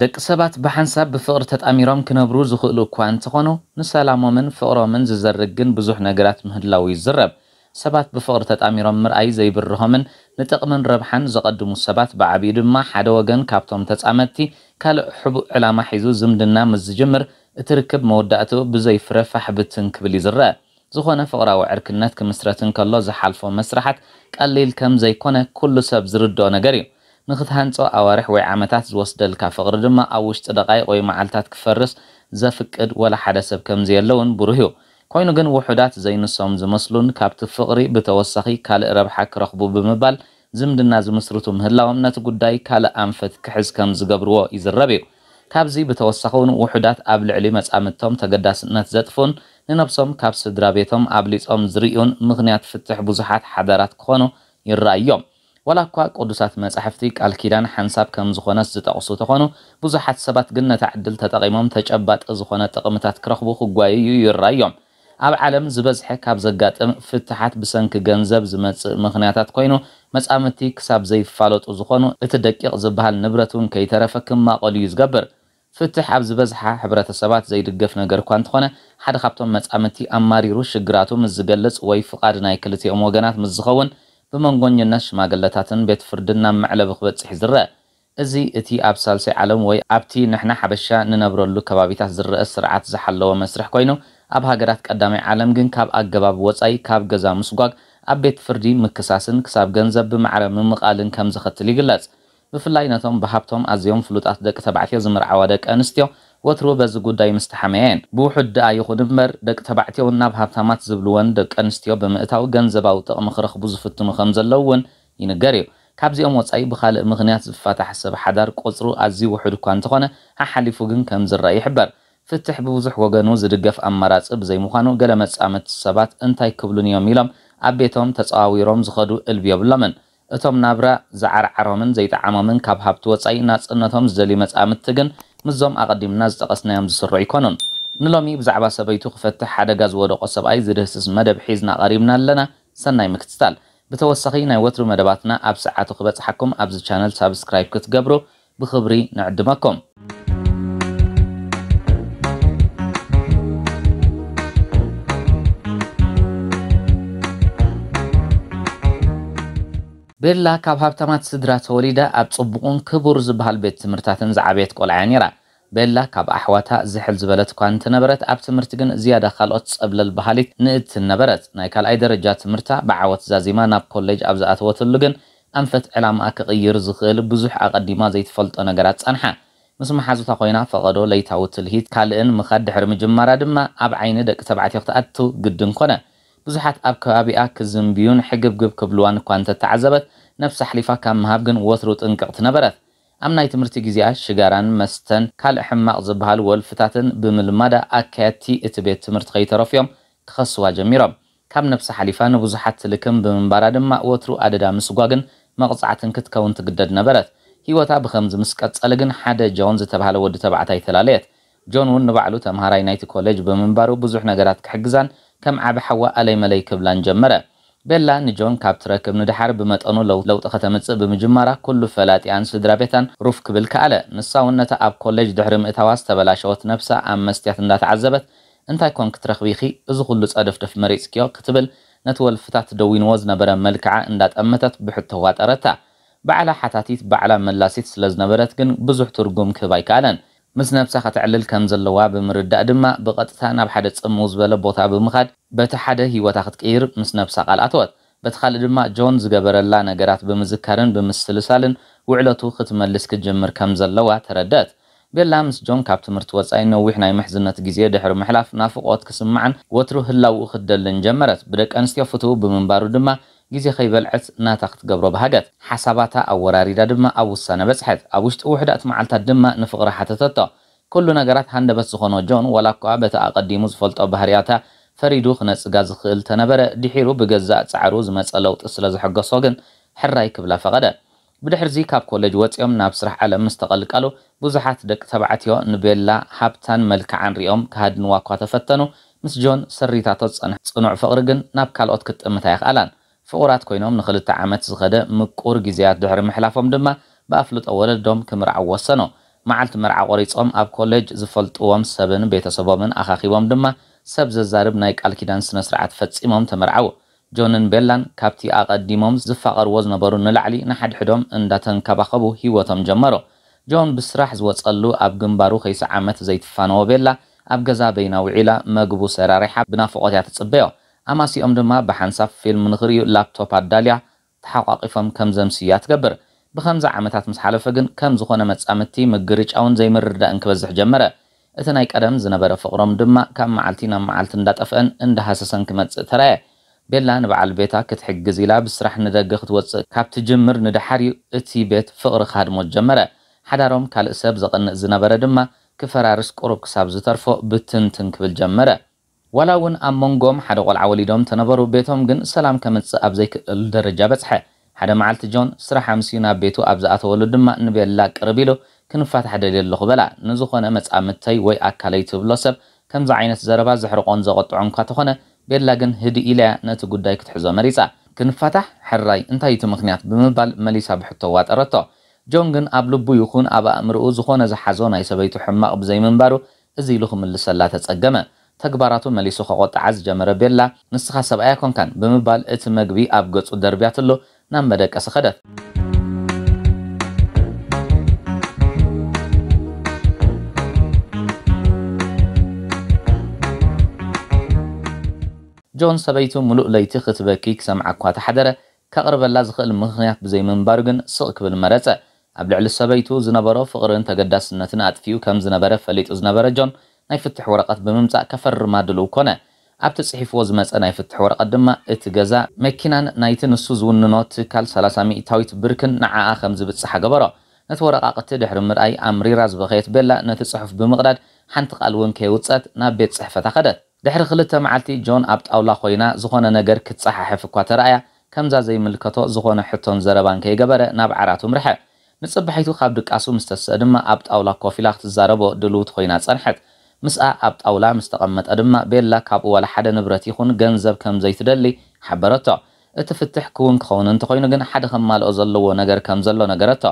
ደቂ ሰባት ብሓንሳብ ብፍቕሪ ተጣሚሮም ክነብሩ ዝኽእሉ እኳ እንተኾኑ፣ ንሰላሞምን ፍቕሮምን ዝዘርግ ግን ብዙሕ ነገራት ምህላዉ ይዝረብ። ሰባት ብፍቕሪ ተጣሚሮም ምርኣይ ዘይብርሆምን ንጥቕምን ረብሓን ዘቐድሙ ሰባት፣ ብዓቢኡ ድማ ሓደ ወገን ካብቶም ተጻመድቲ ካልእ ሕቡእ ዕላማ ሒዙ ዝምድና ምስ ዝጅምር፣ እቲ ርክብ መወዳእትኡ ብዘይ ፍረ ፋሕ ብትን ክብል እዩ ዝረአ። ዝኾነ ፍቕራዊ ዕርክነት ክምስረት እንከሎ ዝሓልፎ መስርሓት ቀሊል ከም ዘይኮነ ኩሉ ሰብ ዝርድኦ ነገር እዩ። ንኽትሃንጾ ኣዋርሕ ወይ ዓመታት ዝወስደልካ ፍቕሪ ድማ ኣብ ውሽጢ ደቓይቕ ወይ መዓልታት ክፈርስ ዘፍቅድ ወላ ሓደ ሰብ ከም ዘየለ እውን ብሩህ እዩ። ኮይኑ ግን ውሑዳት ዘይንሶም ዝመስሉን ካብቲ ፍቕሪ ብተወሳኺ ካልእ ረብሓ ክረኽቡ ብምባል ዝምድና ዝምስርቱ ምህላዎም ነቲ ጉዳይ ካልእ ኣንፈት ክሕዝ ከም ዝገብርዎ ይዝረብ እዩ። ካብዚ ብተወሳኺ እውን ውሑዳት ኣብ ልዕሊ መጻምድቶም ተገዳስነት ዘጥፍኡን ንነብሶም ካብ ስድራ ቤቶም ኣብሊጾም ዝርእዩን ምኽንያት ፍትሕ ብዙሓት ሓዳራት ክኾኑ ይረኣዩ እዮም። ዋላ እኳ ቅዱሳት መጻሕፍቲ ቃል ኪዳን ሓንሳብ ከም ዝኾነስ ዝጠቕሱ ተኾኑ፣ ብዙሓት ሰባት ግን ነታ ዕድል ተጠቒሞም ተጨባጢ ዝኾነ ጥቕምታት ክረኽቡ ክጓየዩ ይረኣዩ እዮም። ኣብ ዓለም ዝበዝሐ ካብ ዘጋጥም ፍትሓት ብሰንኪ ገንዘብ ዝመጽእ ምኽንያታት ኮይኑ፣ መጻምድቲ ክሳብ ዘይፋለጡ ዝኾኑ፣ እቲ ደቂቕ ዝበሃል ንብረት እውን ከይተረፈ ክማቐሉ እዩ ዝገብር። ፍትሕ ኣብ ዝበዝሓ ሕብረተሰባት ዘይድገፍ ነገር እኳ እንተኾነ፣ ሓደ ካብቶም መጻምድቲ ኣማሪሩ ሽግራቱ ምስ ዝገልጽ ወይ ፍቓድ ናይ ክልቲኦም ወገናት ምስ ዝኸውን፣ ብመንጎኝነት ሽማግለታትን ቤት ፍርድን ናብ መዕለቢ ክበጽሕ ይዝረእ። እዚ እቲ ኣብ ሳልሳይ ዓለም ወይ ኣብቲ ንሕና ሓበሻ ንነብረሉ ከባቢታት ዝረአ ስርዓት ዝሓለወ መስርሕ ኮይኑ፣ ኣብ ሃገራት ቀዳማይ ዓለም ግን ካብ ኣገባብ ወጻኢ ካብ ገዛ ምስጓግ፣ ኣብ ቤት ፍርዲ ምክሳስን ክሳብ ገንዘብ ብማዕረ ምምቓልን ከም ዘኸትል ይግለጽ። ብፍላይ ነቶም ብሃብቶም ኣዝዮም ፍሉጣት ደቂ ተባዕትዮ ዝምርዓዋ ደቂ ኣንስትዮ ወትሩ በዚ ጉዳይ ምስተሓመያ እየን። ብውሑድ ደኣ ይኹን እምበር፣ ደቂ ተባዕትዮ ናብ ሃብታማት ዝብልወን ደቂ ኣንስትዮ ብምእታው ገንዘባዊ ጥቕሚ ክረኽቡ ዝፍትኑ ከም ዘለዉ እውን ይንገር እዩ። ካብዚኦም ወጻኢ ብኻልእ ምኽንያት ዝፋታሕ ሰብ ሓዳር ቁጽሩ ኣዝዩ ውሑድ እኳ እንተኾነ፣ ሓሓሊፉ ግን ከም ዝረአ ይሕበር። ፍትሕ ብብዙሕ ወገኑ ዝድገፍ ኣማራጺ ብዘይምዃኑ፣ ገለ መጻምድቲ ሰባት እንታይ ክብሉን እዮም ኢሎም ኣብ ቤቶም ተጸዋዊሮም ዝኸዱ እልቢ የብሎምን። እቶም ናብራ ዝዓርዓሮምን ዘይጠዓሞምን ካብ ሃብቲ ወጻኢ ናጽነቶም ዝደልዩ መጻምድቲ ግን ምስዞም ኣቐዲምና ዝጠቐስናዮም ዝስርዑ ኣይኮኑን። ንሎሚ ብዛዕባ ሰበይቱ ክፈትሕ ሓደጋ ዝወደቖ ሰብኣይ ዝድህስስ መደብ ሒዝና ቀሪብና ኣለና። ሰናይ ምክትታል። ብተወሳኺ ናይ ወትሩ መደባትና ኣብ ሰዓቱ ክበጽሓኩም ኣብዚ ቻነል ሳብስክራይብ ክትገብሩ ብኽብሪ ንዕድመኩም። ቤላ ካብ ሃብታማት ስድራ ተወሊዳ ኣብ ጽቡቕን ክቡር ዝበሃል ቤት ትምህርታትን ዝዓበየት ቆልዓ እያ ነይራ። ቤላ ካብ ኣሕዋታ ዝሕል ዝበለት እኳ እንተነበረት፣ ኣብ ትምህርቲ ግን ዝያዳ ካልኦት ጸብለል በሃሊት ንእድትን ነበረት። ናይ ካልኣይ ደረጃ ትምህርታ ብዓወት ዛዚማ ናብ ኮሌጅ ኣብ ዝኣተወትሉ ግን፣ ኣንፈት ዕላማኣ ክቕይር ዝኽእል ብዙሕ ኣቐዲማ ዘይትፈልጦ ነገራት ጸንሓ። ምስ መሓዙታ ኮይና ፈቐዶ ለይታዊ ትልሂት ካልእን ምኻድ ድሕሪ ምጅማራ ድማ፣ ኣብ ዓይኒ ደቂ ተባዕትዮ ክትኣቱ ግድን ኮነ። ብዙሓት ኣብ ከባቢኣ ክዝንብዩን ሕግብግብ ክብልዋን እኳ እንተተዓዘበት፣ ነብሳ ኣሕሊፋ ካብ ምሃብ ግን ወትሩ ጥንቅቕቲ ነበረት። ኣብ ናይ ትምህርቲ ግዜኣ ሽጋራን መስተን ካልእ ሕማቕ ዝበሃል ወልፍታትን ብምልማዳ፣ ኣካየድቲ እቲ ቤት ትምህርቲ ከይተረፉ እዮም ክኸስዋ ጀሚሮም። ካብ ነብሳ ሓሊፋ ንብዙሓት ትልክም ብምንባራ ድማ፣ ወትሩ ኣደዳ ምስጓግን መቕጻዕትን ክትከውን ትግደድ ነበረት። ህይወታ ብኸምዚ ምስ ቀጸለ ግን፣ ሓደ ጆን ዝተባህለ ወዲ ተባዕታይ ተላለየት። ጆን እውን ንባዕሉ ተምሃራይ ናይቲ ኮሌጅ ብምንባሩ፣ ብዙሕ ነገራት ክሕግዛን ከም ዓቢ ሓዋ ኣለይ መለይ ክብላን ጀመረ። ቤላ ንጆን ካብ ትረክብ ንደሓር ብመጠኑ ለው-፣ ለውጢ ከተምጽእ ብምጅማራ፣ ኩሉ ፈላጢኣን ስድራ ቤታን ሩፍ ክብል ከኣለ። ንሳ እውን ነታ ኣብ ኮሌጅ ድሕሪ ምእታዋ ዝተበላሸወት ነብሳ ኣብ መስትያት እንዳተዓዘበት፣ "እንታይ ኮን ክትረኽቢ ኢኺ እዚ ኩሉ ጸደፍደፍ መሪጽክዮ?" ክትብል ነቲ ወልፍታት ደዊንዎ ዝነበረ መልክዓ እንዳጠመተት ብሕቶ ዋጠረታ። ባዕላ ሓታቲት ባዕላ መላሲት ስለ ዝነበረት ግን ብዙሕ ትርጉም ክህብ ኣይከኣለን። ምስ ነብሳ ከተዕልል ከም ዘለዋ ብምርዳእ ድማ ብቐጥታ ናብ ሓደ ጽምው ዝበለ ቦታ ብምኻድ በቲ ሓደ ህይወታ ክትቅይር ምስ ነብሳ ቃል ኣተወት። በቲ ካልእ ድማ ጆን ዝገበረላ ነገራት ብምዝካርን ብምስልሳልን ውዕለቱ ክትመልስ ክትጅምር ከም ዘለዋ ተረደት። ቤላ ምስ ጆን ካብ ትምህርቲ ወጻኢ ነዊሕ ናይ ምሕዝነት ግዜ ድሕሪ ምሕላፍ ናፍቖት ክስምዓን ወትሩ ህላውኡ ክትደልን ጀመረት። ብደቂ ኣንስትዮ ፍቱው ብምንባሩ ድማ ግዜ ከይበልዐት ናታ ክትገብሮ በሃገት። ሓሳባታ ኣወራሪዳ ድማ ኣብ ውሳነ በጽሐት። ኣብ ውሽጢ ውሑዳት መዓልታት ድማ ንፍቕሪ ሓተተቶ። ኩሉ ነገራት ሃንደበት ዝኾኖ ጆን፣ ዋላ እኳ በቲ ኣቐዲሙ ዝፈልጦ ባህርያታ ፈሪዱ ክነጽጋ ዝኽእል ተነበረ፣ ድሒሩ ብገዛእ ጻዕሩ ዝመጸ ለውጢ ስለ ዘሐገሶ ግን ሕራይ ክብላ ፈቐደ። ብድሕርዚ ካብ ኮሌጅ ወጺኦም ናብ ስራሕ ዓለም ምስ ተቐልቀሉ፣ ብዙሓት ደቂ ተባዕትዮ ንቤላ ሃብታን መልክዓን ሪኦም ክሃድንዋ እኳ ተፈተኑ፣ ምስ ጆን ሰሪታቶ ዝጸንሐ ጽኑዕ ፍቕሪ ግን ናብ ካልኦት ክትጥምት ኣየኽኣላን። ፍቑራት ኮይኖም ንኽልተ ዓመት ዝኸደ ምቁር ግዜያት ድሕሪ ምሕላፎም ድማ፣ ብኣፍልጦ ወለዶም ክምርዓው ወሰኑ። መዓልቲ መርዓ ቆሪጾም ኣብ ኮሌጅ ዝፈልጥዎም ሰብን ቤተሰቦምን ኣኻኺቦም ድማ ሰብ ዘዛርብ ናይ ቃል ኪዳን ስነ ስርዓት ፈጺሞም ተመርዓዉ። ጆንን ቤላን ካብቲ ኣቐዲሞም ዝፋቐርዎ ዝነበሩ ንላዕሊ ንሓድሕዶም እንዳተንከባኸቡ ህይወቶም ጀመሩ። ጆን ብስራሕ ዝወጸሉ ኣብ ግንባሩ ከይሰዓመት ዘይትፋነዎ ቤላ ኣብ ገዛ በይና ውዒላ መግቡ ሰራሪሓ ብናፍቖት እያ ትጽበዮ። ኣማሲኦም ድማ ብሓንሳብ ፊልም ንኽርእዩ ላፕቶፕ ኣዳልያ ተሓቋቒፎም ከም ዘምስያ ትገብር። ብኸምዚ ዓመታት ምስ ሓለፈ ግን ከም ዝኾነ መጻምድቲ ምግርጫውን ዘይምርዳእን ክበዝሕ ጀመረ። እቲ ናይ ቀደም ዝነበረ ፍቕሮም ድማ ካብ መዓልቲ ናብ መዓልቲ እንዳጠፍአን እንዳሃሰሰን ክመጽእ ተራየ። ቤላ ንበዓል ቤታ ክትሕግዝ ኢላ ብስራሕ ንደገ ክትወጽእ ካብ ትጅምር ንደሓር እዩ እቲ ቤት ፍቕሪ ክሃድሞ ጀመረ። ሓዳሮም ካልእ ሰብ ዘቐንእ ዝነበረ ድማ ክፈራርስ ቁሩብ ክሳብ ዝተርፎ ብትንትን ክብል ጀመረ። ዋላ እውን ኣብ መንጎኦም ሓደ ቆልዓ ወሊዶም ተነበሩ፣ ቤቶም ግን ሰላም ከምጽእ ኣብ ዘይክእል ደረጃ በጽሐ። ሓደ መዓልቲ ጆን ስራሕ ኣምስዩ ናብ ቤቱ ኣብ ዝኣተወሉ ድማ ንቤላ ቅርብ ኢሉ ክንፋታሕ ደልየ ኣለኹ በላ። ንዝኾነ መጻምድተይ ወይ ኣካለይ ትብሎ ሰብ ከምዚ ዓይነት ዘረባ ዘሕርቆን ዘቆጥዖን እኳ ተኾነ፣ ቤላ ግን ህድእ ኢላያ ነቲ ጉዳይ ክትሕዞ መሪጻ። ክንፋታሕ? ሕራይ፣ እንታይ እቲ ምኽንያት? ብምባል መሊሳ ብሕቶ ዋጠረቶ። ጆን ግን ኣብ ልቡ ይኹን ኣብ ኣእምርኡ ዝኾነ ዝሓዞ ናይ ሰበይቱ ሕማቕ ብዘይምንባሩ እዚ ኢሉ ክምልሰላ ተጸገመ። ተግባራቱ መሊሱ ከቖጥዓ ዝጀመረ ቤላ፣ "ንስኻ ሰብኣይ ኣይኮንካን" ብምባል እቲ መግቢ ኣብ ገጹ ደርብያትሉ ናብ መደቀሲ ከደት። ጆን ሰበይቱ ምሉእ ለይቲ ክትበኪ ክሰምዓ እኳ ተሓደረ፣ ከቕርበላ ዝኽእል ምኽንያት ብዘይምንባሩ ግን ስቕ ክብል መረጸ። ኣብ ልዕሊ ሰበይቱ ዝነበሮ ፍቕርን ተገዳስነትን ኣጥፊኡ ከም ዝነበረ ፈሊጡ ዝነበረ ጆን፣ ናይ ፍትሕ ወረቐት ብምምጻእ ከፈርማ ድሉው ኮነ። ኣብቲ ጽሒፍዎ ዝመጸ ናይ ፍትሕ ወረቐት ድማ እቲ ገዛ፣ መኪናን ናይቲ ንሱ ዝውንኖ ትካል ሰላሳ ሚእታዊት ብርክን ንዓኣ ከም ዝብጽሓ ገበሮ። ነቲ ወረቓቕቲ ድሕሪ ምርኣይ ኣምሪራ ዝበኸየት ቤላ ነቲ ጽሑፍ ብምቕዳድ ሓንቲ ቃል እውን ከየውጸት ናብ ቤት ጽሕፈታ ከደት። ድሕሪ ክልተ መዓልቲ ጆን ኣብ ጣውላ ኮይና ዝኾነ ነገር ክትጸሓሕፍ እኳ ተራእያ፣ ከምዛ ዘይምልከቶ ዝኾነ ሕቶን ዘረባን ከይገበረ ናብ ዓራቱ ምርሐ። ንጽባሒቱ ካብ ድቃሱ ምስ ተስአ ድማ ኣብ ጣውላ ኮፍ ኢላ ክትዛረቦ ድልውቲ ኮይና ጸንሐት። ምስኣ ኣብ ጣውላ ምስ ተቐመጠ ድማ ቤላ ካብኡ ዋላ ሓደ ንብረት ይኹን ገንዘብ ከም ዘይትደሊ ሓበረቶ። እቲ ፍትሕ ክውን ክኸውን እንተኾይኑ ግን ሓደ ከማልኦ ዘለዎ ነገር ከም ዘሎ ነገረቶ።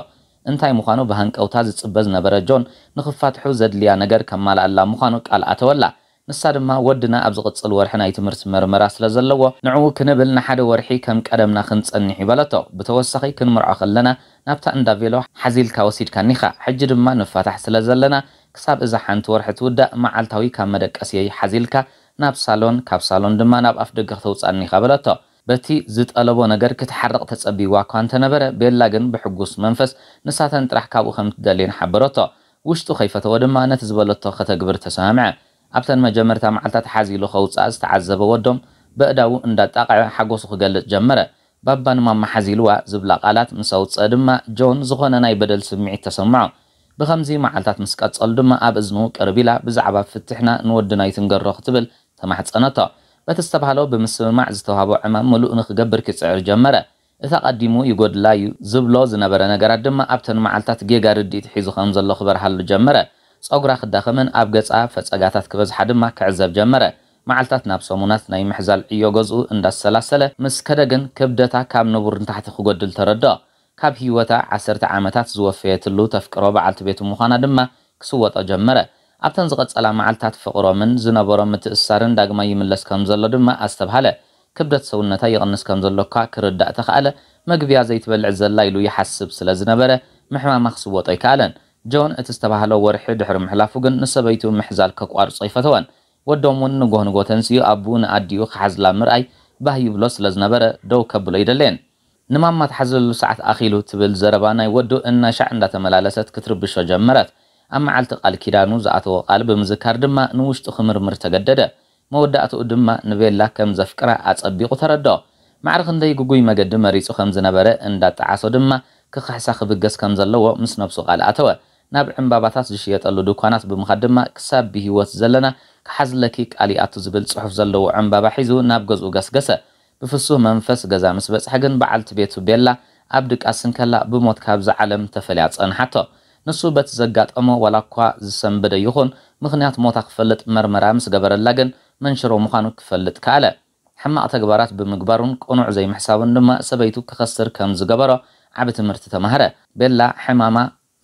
እንታይ ምዃኑ ብሃንቀውታ ዝጽበ ዝነበረ ጆን ንኽፋትሑ ዘድልያ ነገር ከማልኣላ ምዃኑ ቃል ኣተወላ። ንሳ ድማ ወድና ኣብ ዝቕጽል ወርሒ ናይ ትምህርቲ መርመራ ስለ ዘለዎ ንዕኡ ክንብል ንሓደ ወርሒ ከም ቀደምና ክንጸንሕ እዩ በለቶ። ብተወሳኺ ክንምርዖ ከለና ናብታ እንዳ ቬሎ ሓዚልካ ወሲድካኒ ኢኻ። ሕጂ ድማ ንፋታሕ ስለ ዘለና ክሳብ እዛ ሓንቲ ወርሒ ትውዳእ መዓልታዊ ካብ መደቀስየይ ሓዚልካ ናብ ሳሎን፣ ካብ ሳሎን ድማ ናብ ኣፍ ደገ ክተውጻኒ ኢኻ በለቶ። በቲ ዝጠለቦ ነገር ክትሓርቕ ተጸቢዋ እኳ እንተነበረ፣ ቤላ ግን ብሕጉስ መንፈስ ንሳተን ጥራሕ ካብኡ ከም ትደልየን ሓበረቶ። ውሽጡ ከይፈተወ ድማ ነቲ ዝበለቶ ከተግብር ተሰማምዐ። ኣብተን መጀመርታ መዓልታት ሓዚሉ ከውጽኣ ዝተዓዘበ ወዶም በእዳዉ እንዳጣቕዐ ሓጎሱ ክገልጽ ጀመረ። "ባባ ንማማ ሓዚልዋ" ዝብላ ቃላት ምስ ኣውጽአ ድማ ጆን ዝኾነ ናይ በደል ስምዒት ተሰምዖ። ብኸምዚ መዓልታት ምስ ቀጸሉ ድማ ኣብ እዝኑ ቅርብ ኢላ ብዛዕባ ፍትሕና ንወድና ይትንገሮ ክትብል ተማሕጸነቶ። በቲ ዝተባህሎ ብምስምማዕ ዝተዋህቦ ዕማም ምሉእ ንክገብር ክጽዕር ጀመረ። እቲ ኣቐዲሙ ይጎድላ እዩ ዝብሎ ዝነበረ ነገራት ድማ ኣብተን መዓልታት ጌጋ ርድኢት ሒዙ ከም ዘሎ ክበርሃሉ ጀመረ። ጸጉራ ክዳኸምን ኣብ ገጻ ፈጸጋታት ክበዝሓ ድማ ክዕዘብ ጀመረ። መዓልታት ናብ ሰሙናት ናይ ምሕዛል ዕዮ ገዝኡ እንዳሰላሰለ ምስ ከደ ግን ክብደታ ካብ ንቡር ንታሕቲ ክጎድል ተረድኦ። ካብ ህይወታ ዓሰርተ ዓመታት ዝወፈየትሉ ተፍቅሮ በዓልቲ ቤቱ ምዃና ድማ ክስወጦ ጀመረ። ኣብተን ዝቐጸላ መዓልታት ፍቕሮምን ዝነበሮ ምትእስሳርን ዳግማይ ይምለስ ከም ዘሎ ድማ ኣስተብሃለ። ክብደት ሰውነታ ይቕንስ ከም ዘሎ እኳ ክርዳእ ተኻእለ፣ መግቢያ ዘይትበልዕ ዘላ ኢሉ ይሓስብ ስለ ዝነበረ ምሕማማ ክስወጦ ኣይከኣለን። ጆን እቲ ዝተባህሎ ወርሒ ድሕሪ ምሕላፉ ግን ንሰበይቱ ምሕዛል ከቋርጾ ኣይፈተወን። ወዶም እውን ንጎህ ንጎ ተንሲኡ ኣቡኡ ንኣዲኡ ክሓዝላ ምርኣይ ባህ ይብሎ ስለ ዝነበረ ደው ከብሎ ኣይደለየን። ንማማ ትሓዝለሉ ሰዓት ኣኺሉ ትብል ዘረባ ናይ ወዱ እናሻዕ እንዳተመላለሰት ክትርብሾ ጀመረት። ኣብ መዓልቲ ቃል ኪዳኑ ዝኣተዎ ቃል ብምዝካር ድማ ንውሽጡ ክምርምር ተገደደ። መወዳእትኡ ድማ ንቤላ ከም ዘፍቅራ ኣጸቢቑ ተረድኦ። ማዕረ ክንደይ ግጉይ መገዲ መሪጹ ከም ዝነበረ እንዳጠዓሶ ድማ ክኽሕሳ ክብገስ ከም ዘለዎ ምስ ነብሱ ቃል ኣተወ። ናብ ዕምባባታት ዝሽየጠሉ ድኳናት ብምኻድ ድማ ክሳብ ብህይወት ዘለና ክሓዝለኪ ቃል ይኣቱ ዝብል ጽሑፍ ዘለዎ ዕምባባ ሒዙ ናብ ገዝኡ ገስገሰ። ብፍሱህ መንፈስ ገዛ ምስ በጽሐ ግን በዓልቲ ቤቱ ቤላ ኣብ ድቃስ እንከላ ብሞት ካብዛ ዓለም ተፈልያ ጸንሓቶ። ንሱ በቲ ዘጋጠሞ ዋላ እኳ ዝሰንበደ ይኹን ምኽንያት ሞታ ክፈልጥ መርመራ ምስ ገበረላ ግን መንሽሮ ምዃኑ ክፈልጥ ከኣለ። ሕማቕ ተግባራት ብምግባሩን ቅኑዕ ዘይምሕሳቡን ድማ ሰበይቱ ክኸስር ከም ዝገበሮ ዓቢ ትምህርቲ ተማህረ። ቤላ ሕማማ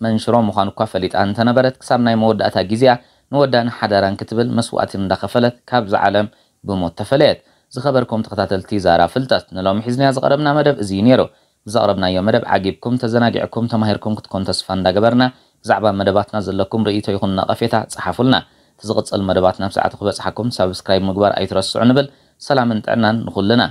መንሽሮ ምዃኑ እኳ ፈሊጣ እንተነበረት፣ ክሳብ ናይ መወዳእታ ግዜኣ ንወዳን ሓዳራን ክትብል መስዋእቲ እንዳኸፈለት ካብዛ ዓለም ብሞት ተፈለየት። ዝኸበርኩም ተኸታተልቲ ዛራ ፍልጠት፣ ንሎሚ ሒዝናዮ ዝቐረብና መደብ እዚ እዩ ነይሩ። ብዘቕረብናዮ መደብ ዓጊብኩም፣ ተዘናጊዕኩም፣ ተማሂርኩም ክትኮኑ ተስፋ እንዳገበርና፣ ብዛዕባ መደባትና ዘለኩም ርእይቶ ይኹን ነቐፌታ ጸሓፉልና። እቲ ዝቕጽል መደባትና ብሰዓቱ ክበጽሓኩም ሳብስክራይብ ምግባር ኣይትረስዑ ንብል። ሰላምን ጥዕናን ንኹልና።